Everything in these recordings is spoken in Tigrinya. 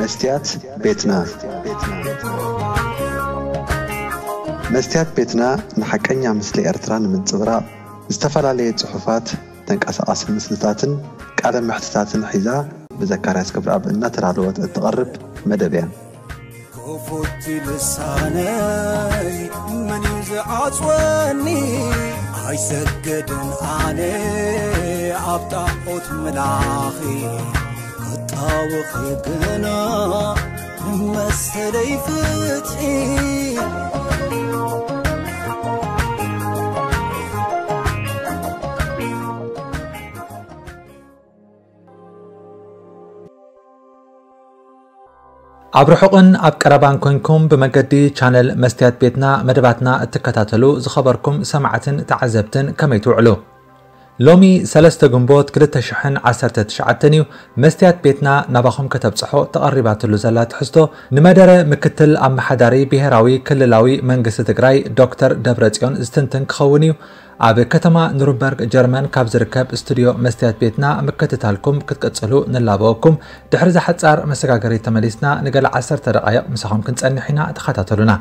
መስትያት ቤትና። መስትያት ቤትና ንሓቀኛ ምስሊ ኤርትራ ንምንጽብራቕ ዝተፈላለየ ጽሑፋት፣ ተንቀሳቓሲ ምስልታትን ቃለ መሕትታትን ሒዛ ብዘካርያስ ክብረኣብ እናተዳለወት እትቐርብ መደብ እያ። ክፉት ልሳነይ መን እዩ ዝዓጽወኒ? ኣይሰግድን ኣነ ኣብ ጣዖት ምላኺ፣ ክጣወኺ ግና መሰለይ ፍትሒ። ኣብ ርሑቕን ኣብ ቀረባን ኮንኩም ብመገዲ ቻነል መስትያት ቤትና መደባትና እትከታተሉ ዝኸበርኩም ሰማዕትን ተዓዘብትን ከመይ ትውዕሉ? ሎሚ ሰለስተ ግንቦት ክልተ ሽሕን ዓሰርተ ትሽዓተን እዩ። መስትያት ቤትና ናባኹም ከተብጽሖ ተቐሪባትሉ ዘላ ትሕዝቶ ንመደረ ምክትል ኣመሓዳሪ ብሄራዊ ክልላዊ መንግስቲ ትግራይ ዶክተር ደብረጽዮን ዝትንትን ክኸውን እዩ። ኣብ ከተማ ኑርንበርግ ጀርመን ካብ ዝርከብ ስቱድዮ መስትያት ቤትና ምክትታልኩም ክትቅጽሉ ንላበወኩም። ድሕሪ እዛ ሓጻር መሰጋገሪት ተመሊስና ንገለ ዓሰርተ ደቓይቕ ምሳኹም ክንጸንሕ ኢና። ተኸታተሉና።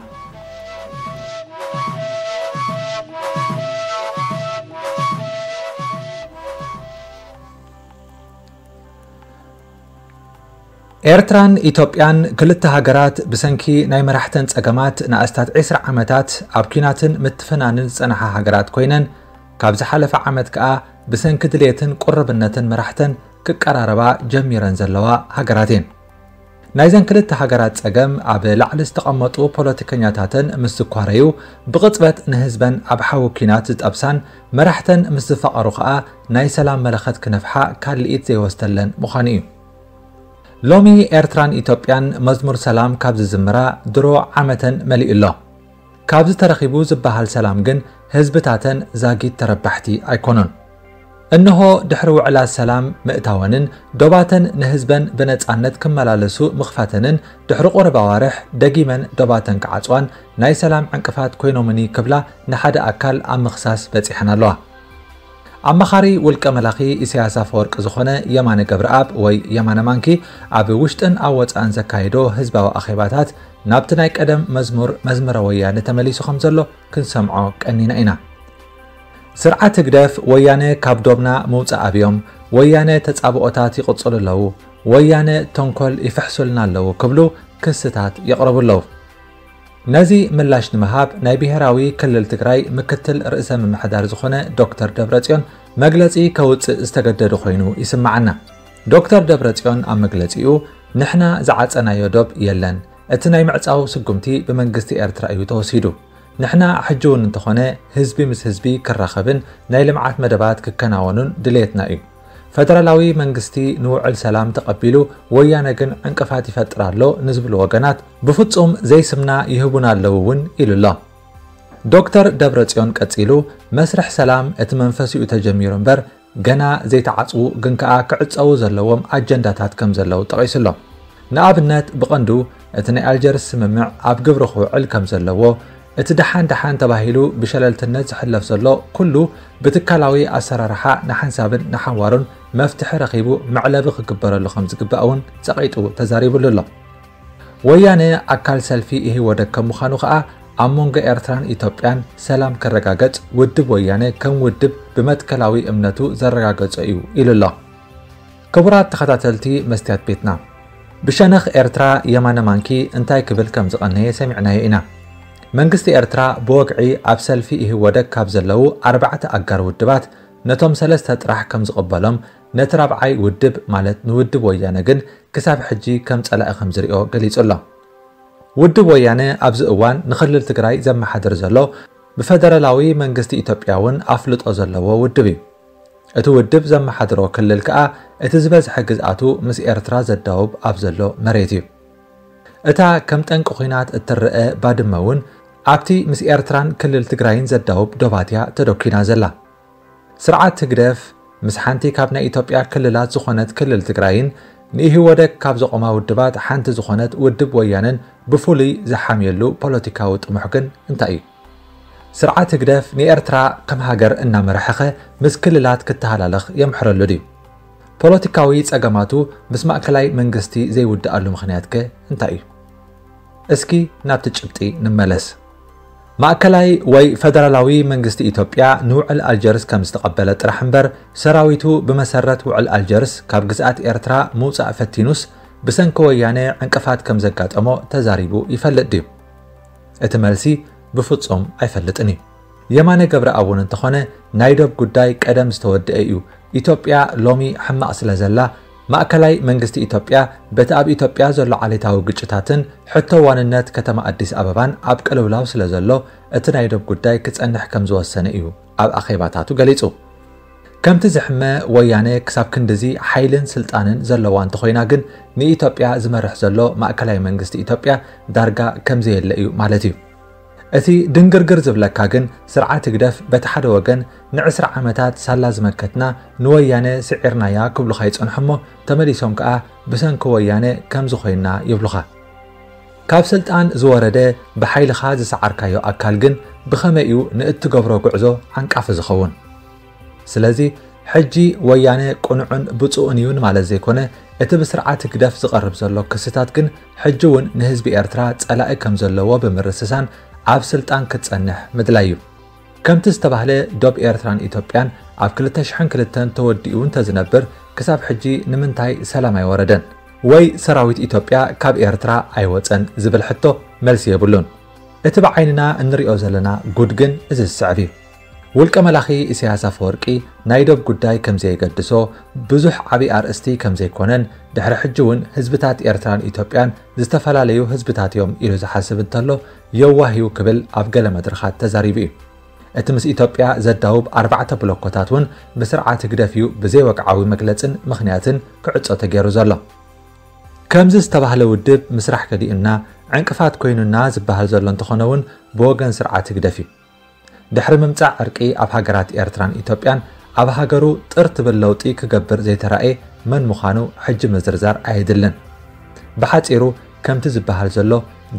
ኤርትራን ኢትዮጵያን ክልተ ሃገራት ብሰንኪ ናይ መራሕተን ጸገማት ንኣስታት ዕስራ ዓመታት ኣብ ኲናትን ምትፍናንን ዝጸንሓ ሃገራት ኮይነን፣ ካብ ዝሓለፈ ዓመት ከኣ ብሰንኪ ድሌትን ቁርብነትን መራሕተን ክቀራረባ ጀሚረን ዘለዋ ሃገራት እየን። ናይዘን ክልተ ሃገራት ጸገም ኣብ ላዕሊ ዝተቐመጡ ፖለቲከኛታተን ምስ ዝኳረዩ፣ ብቕጽበት ንህዝበን ኣብ ሓዊ ኲናት ዝጠብሳን መራሕተን ምስ ዝፋቐሩ ከኣ ናይ ሰላም መለኸት ክነፍሓ ካልኢት ዘይወስደለን ምዃኑ እዩ። ሎሚ ኤርትራን ኢትዮጵያን መዝሙር ሰላም ካብ ዝዝምራ ድሮ ዓመተን መሊኡ ኣሎ። ካብዚ ተረኺቡ ዝበሃል ሰላም ግን ህዝብታተን ዛጊት ተረባሕቲ ኣይኮኑን። እንሆ ድሕሪ ውዕላት ሰላም ምእታወንን ዶባተን ንህዝበን ብነጻነት ክመላለሱ ምኽፋተንን ድሕሪ ቁሩብ ኣዋርሕ ደጊመን ዶባተን ክዓጽዋን ናይ ሰላም ዕንቅፋት ኮይኖምኒ ክብላ ንሓደ ኣካል ኣብ ምኽሳስ በጺሐን ኣለዋ። ኣማኻሪ ውልቀ መላኺ ኢሳያስ ኣፈወርቂ ዝኾነ የማነ ገብረኣብ ወይ የማነ ማንኪ ኣብ ውሽጥን ኣብ ወጻእን ዘካየዶ ህዝባዊ ኣኼባታት ናብቲ ናይ ቀደም መዝሙር መዝመረ ወያነ ተመሊሱ ከም ዘሎ ክንሰምዖ ቀኒና ኢና። ስርዓት ህግደፍ ወያነ ካብ ዶብና ምውጻእ ኣብዮም፣ ወያነ ተጻብኦታት ይቕጽሉ ኣለዉ፣ ወያነ ተንኮል ይፍሕሱልና ኣለዉ ክብሉ ክስታት የቕርቡ ኣለዉ። ነዚ ምላሽ ንምሃብ ናይ ብሄራዊ ክልል ትግራይ ምክትል ርእሰ ምምሕዳር ዝኾነ ዶክተር ደብረጽዮን መግለጺ ከውጽእ ዝተገደዱ ኮይኑ ይስምዓና። ዶክተር ደብረጽዮን ኣብ መግለጺኡ ንሕና ዝዓጸናዮ ዶብ የለን፣ እቲ ናይ ምዕጻው ስጉምቲ ብመንግስቲ ኤርትራ እዩ ተወሲዱ። ንሕና ሕጂ እውን እንተኾነ ህዝቢ ምስ ህዝቢ ክራኸብን ናይ ልምዓት መደባት ክከናወኑን ድሌትና እዩ። ፈደራላዊ መንግስቲ ንውዕል ሰላም ተቐቢሉ ወያነ ግን ዕንቅፋት ይፈጥር ኣሎ ንዝብሉ ወገናት ብፍጹም ዘይስምና ይህቡና ኣለዉ እውን ኢሉ ኣሎ። ዶክተር ደብረጽዮን ቀጺሉ መስርሕ ሰላም እቲ መንፈስ እዩ ተጀሚሩ እምበር ገና ዘይተዓጽዉ ግን ከኣ ክዕጸዉ ዘለዎም ኣጀንዳታት ከም ዘለዉ ጠቒሱ ኣሎ። ንኣብነት ብቐንዱ እቲ ናይ ኣልጀርስ ስምምዕ ኣብ ግብሪ ክውዕል ከም ዘለዎ፣ እቲ ደሓን ደሓን ተባሂሉ ብሸለልትነት ዝሕለፍ ዘሎ ኩሉ ብትካላዊ ኣሰራርሓ ንሓንሳብን ንሓዋሩን መፍትሒ ረኺቡ መዕለቢ ክግበረሉ ከም ዝግባእ እውን ጸቒጡ ተዛሪቡሉ ኣሎ። ወያነ ኣካል ሰልፊ ኢህወደግ ከም ምዃኑ ከኣ ኣብ መንጎ ኤርትራን ኢትዮጵያን ሰላም ክረጋገጽ ውድብ ወያነ ከም ውድብ ብመትከላዊ እምነቱ ዘረጋገጾ እዩ ኢሉ ኣሎ። ክቡራት ተኸታተልቲ መስትያት ቤትና፣ ብሸነኽ ኤርትራ የማነ ማንኪ እንታይ ክብል ከም ዝቐነየ ሰሚዕናዮ ኢና። መንግስቲ ኤርትራ ብወግዒ ኣብ ሰልፊ ኢህወደግ ካብ ዘለዉ ኣርባዕተ ኣጋር ውድባት ነቶም ሰለስተ ጥራሕ ከም ዝቕበሎም፣ ነቲ ራብዓይ ውድብ ማለት ንውድብ ወያነ ግን ክሳብ ሕጂ ከም ጸላኢ ከም ዝሪኦ ገሊጹ ኣሎ። ውድብ ወያነ ኣብዚ እዋን ንክልል ትግራይ ዘመሓድር ዘሎ ብፈደራላዊ መንግስቲ ኢትዮጵያ እውን ኣፍልጦ ዘለዎ ውድብ እዩ። እቲ ውድብ ዘመሓድሮ ክልል ከኣ እቲ ዝበዝሐ ግዝኣቱ ምስ ኤርትራ ዘዳውብ ኣብ ዘሎ መሬት እዩ። እታ ከም ጠንቂ ኲናት እትረአ ባድመ እውን ኣብቲ ምስ ኤርትራን ክልል ትግራይን ዘዳውብ ዶባት እያ ተደኲና ዘላ። ስርዓት ህግደፍ ምስ ሓንቲ ካብ ናይ ኢትዮጵያ ክልላት ዝኾነት ክልል ትግራይን ንኢህወደግ ካብ ዘቖማ ውድባት ሓንቲ ዝኾነት ውድብ ወያነን ብፍሉይ ዝሓምየሉ ፖለቲካዊ ጥሙሕ ግን እንታይ እዩ? ስርዓት ህግደፍ ንኤርትራ ከም ሃገር እናመርሐኸ ምስ ክልላት ክተሃላለኽ የምሕረሉ ድዩ? ፖለቲካዊ ጸገማቱ ምስ ማእከላይ መንግስቲ ዘይውድኣሉ ምኽንያት ከ እንታይ እዩ? እስኪ ናብቲ ጭብጢ ንመለስ። ማእከላይ ወይ ፈደራላዊ መንግስቲ ኢትዮጵያ ንውዕል ኣልጀርስ ከም ዝተቐበለ ጥራሕ እምበር፣ ሰራዊቱ ብመሰረት ውዕል ኣልጀርስ ካብ ግዝኣት ኤርትራ ምውጻእ ፈቲኑስ ብሰንኪ ወያነ ዕንቅፋት ከም ዘጋጠሞ ተዛሪቡ ይፈልጥ ድዩ? እቲ መልሲ ብፍጹም ኣይፈልጥን እዩ። የማነ ገብረኣብ እውን እንተኾነ ናይ ዶብ ጉዳይ ቀደም ዝተወደአ እዩ፣ ኢትዮጵያ ሎሚ ሕማቕ ስለ ዘላ፣ ማእከላይ መንግስቲ ኢትዮጵያ በቲ ኣብ ኢትዮጵያ ዘሎ ዓሌታዊ ግጭታትን ሕቶ ዋንነት ከተማ ኣዲስ ኣበባን ኣብ ቅልውላው ስለ ዘሎ፣ እቲ ናይ ዶብ ጉዳይ ክጸንሕ ከም ዝወሰነ እዩ ኣብ ኣኼባታቱ ገሊጹ። ከምቲ ዝሕመ፣ ወያነ ክሳብ ክንድዚ ሓይልን ስልጣንን ዘለዋ እንተኾይና ግን፣ ንኢትዮጵያ ዝመርሕ ዘሎ ማእከላይ መንግስቲ ኢትዮጵያ ዳርጋ ከም ዘየለ እዩ ማለት እዩ። እቲ ድንግርግር ዝብለካ ግን፣ ስርዓት ህግደፍ በቲ ሓደ ወገን ንዕስራ ዓመታት ሳላ ዝመከትና ንወያነ ስዒርናያ ክብሉኻ ይጸንሑ እሞ፣ ተመሊሶም ከኣ ብሰንኪ ወያነ ከምዚ ኮይና ይብሉኻ። ካብ ስልጣን ዝወረደ ብሓይልኻ ዝሰዓርካዮ ኣካል ግን ብኸመይ እዩ ንእትገብሮ ጉዕዞ ዓንቃፊ ዝኸውን? ስለዚ ሕጂ ወያነ ቅኑዕን ብጹእን እዩ ንማለት ዘይኮነ፣ እቲ ብስርዓት ህግደፍ ዝቐርብ ዘሎ ክስታት ግን ሕጂ እውን ንህዝቢ ኤርትራ ጸላኢ ከም ዘለዎ ብምርስሳን ኣብ ስልጣን ክትጸንሕ ምድላይ እዩ። ከምቲ ዝተባህለ ዶብ ኤርትራን ኢትዮጵያን ኣብ ክልተ ሽሕን ክልተን ተወዲኡ እንተዝነብር ክሳብ ሕጂ ንምንታይ ሰላም ኣይወረደን? ወይ ሰራዊት ኢትዮጵያ ካብ ኤርትራ ኣይወጸን ዝብል ሕቶ መልሲ የብሉን። እቲ ብዓይንና እንሪኦ ዘለና ጉድ ግን እዚ ዝስዕብ እዩ። ውልቀ መላኺ ኢሳያስ ኣፈወርቂ ናይ ዶብ ጉዳይ ከም ዘየገድሶ፣ ብዙሕ ዓቢ ኣርእስቲ ከም ዘይኮነን፣ ድሕሪ ሕጂ እውን ህዝብታት ኤርትራን ኢትዮጵያን ዝተፈላለዩ ህዝብታት እዮም ኢሉ ዝሓስብ እንተሎ የዋህ እዩ ክብል ኣብ ገለ መድረኻት ተዛሪቡ እዩ። እቲ ምስ ኢትዮጵያ ዘዳውብ ኣርባዕተ ብሎኮታት እውን ብስርዓት ህግደፍ እዩ ብዘይወግዓዊ መግለጽን ምኽንያትን ክዕጾ ተገይሩ ዘሎ። ከምዚ ዝተባህለ ውድብ ምስራሕ ከዲኡና፣ ዕንቅፋት ኮይኑና ዝበሃል ዘሎ እንተኾነ እውን ብወገን ስርዓት ህግደፍ እዩ። ድሕሪ ምምጻእ ዕርቂ ኣብ ሃገራት ኤርትራን ኢትዮጵያን ኣብ ሃገሩ ጥር ትብል ለውጢ ክገብር ዘይተራእየ መን ምዃኑ ሕጂ ምዝርዛር ኣየድልን። ብሓጺሩ ከምቲ ዝበሃል ዘሎ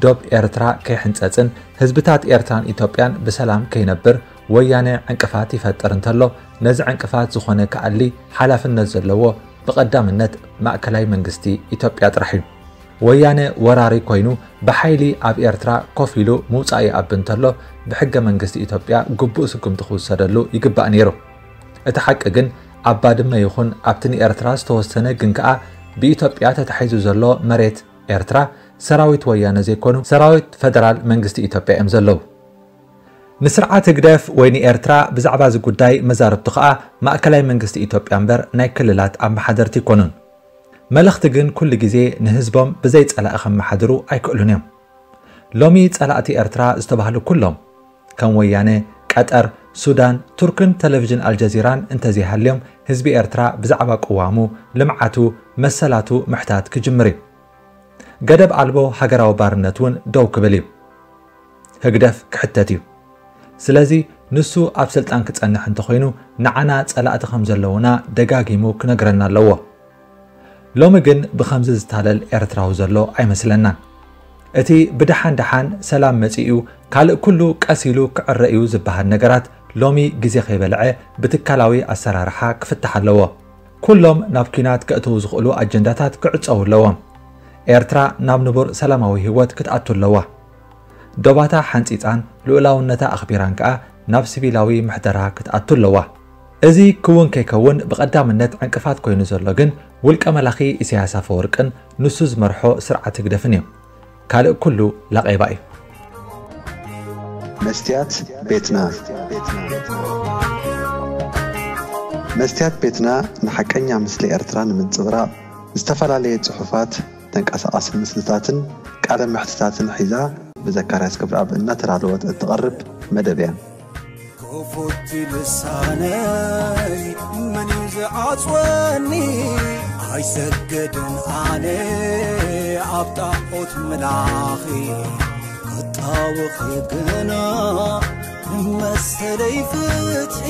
ዶብ ኤርትራ ከይሕንጸጽን ህዝብታት ኤርትራን ኢትዮጵያን ብሰላም ከይነብር ወያነ ዕንቅፋት ይፈጥር እንተሎ ነዚ ዕንቅፋት ዝኾነ ክኣሊ ሓላፍነት ዘለዎ ብቐዳምነት ማእከላይ መንግስቲ ኢትዮጵያ ጥራሕ እዩ። ወያነ ወራሪ ኮይኑ ብሓይሊ ኣብ ኤርትራ ኮፍ ኢሉ ምውጻእ ይኣቢ እንተሎ ብሕገ መንግስቲ ኢትዮጵያ ግቡእ ስጉምቲ ክውሰደሉ ይግባእ ነይሩ። እቲ ሓቂ ግን ኣብ ባድመ ይኹን ኣብቲ ንኤርትራ ዝተወሰነ ግን ከኣ ብኢትዮጵያ ተታሒዙ ዘሎ መሬት ኤርትራ ሰራዊት ወያነ ዘይኮኑ ሰራዊት ፈደራል መንግስቲ ኢትዮጵያ እዮም ዘለዉ። ንስርዓት ህግደፍ ወይ ንኤርትራ ብዛዕባ እዚ ጉዳይ መዛርብቱ ከኣ ማእከላይ መንግስቲ ኢትዮጵያ እምበር ናይ ክልላት ኣመሓደርቲ ኣይኮኑን። መልእኽቲ ግን ኩሉ ግዜ ንህዝቦም ብዘይ ጸላኢ ከመሓድሩ ኣይክእሉን እዮም። ሎሚ ጸላእቲ ኤርትራ ዝተባህሉ ኩሎም ከም ወያነ፣ ቀጠር፣ ሱዳን፣ ቱርክን ቴሌቪዥን ኣልጀዚራን እንተዘይሃልዮም ህዝቢ ኤርትራ ብዛዕባ ቅዋሙ፣ ልምዓቱ፣ መሰላቱ ምሕታት ክጅምር እዩ። ገደብ ኣልቦ ሃገራዊ ባርነት እውን ደው ክብል እዩ። ህግደፍ ክሕተት እዩ። ስለዚ ንሱ ኣብ ስልጣን ክጸንሕ እንተኾይኑ ንዓና ጸላእቲ ከም ዘለውና ደጋጊሙ ክነግረና ኣለዎ። ሎሚ ግን ብኸምዚ ዝታለል ኤርትራዊ ዘሎ ኣይመስለናን። እቲ ብደሓን ደሓን ሰላም መጺኡ ካልእ ኩሉ ቀስ ኢሉ ክዕረ እዩ ዝበሃል ነገራት ሎሚ ግዜ ከይበልዐ ብትካላዊ ኣሰራርሓ ክፍታሕ ኣለዎ። ኩሎም ናብ ኲናት ከእትዉ ዝኽእሉ ኣጀንዳታት ክዕጸዉ ኣለዎም። ኤርትራ ናብ ንቡር ሰላማዊ ህይወት ክትኣቱ ኣለዋ። ዶባታ ሓንጺጻን ልኡላውነታ ኣኽቢራን ከኣ ናብ ሲቪላዊ ምሕደራ ክትኣቱ ኣለዋ። እዚ ክውን ከይከውን ብቐዳምነት ዕንቅፋት ኮይኑ ዘሎ ግን ውልቀ መላኺ ኢሳያስ ኣፈወርቅን ንሱ ዝመርሖ ስርዓት ህግደፍን እዮም። ካልእ ኩሉ ላቄባ እዩ። መስትያት ቤትና። መስትያት ቤትና ንሓቀኛ ምስሊ ኤርትራ ንምንጽብራቕ ዝተፈላለየ ጽሑፋት፣ ተንቀሳቓሲ ምስልታትን ቃለ መሕትታትን ሒዛ ብዘካርያስ ገብረኣብ እናተዳለወት እትቐርብ መደብ እያ። ክፉት ልሳነይ መን እዩ ዝዓጽወኒ? ኣይሰግድን ኣነ ኣብ ጣዖት ምላኺ ክጣወኺ ግና መሰለይ ፍትሒ።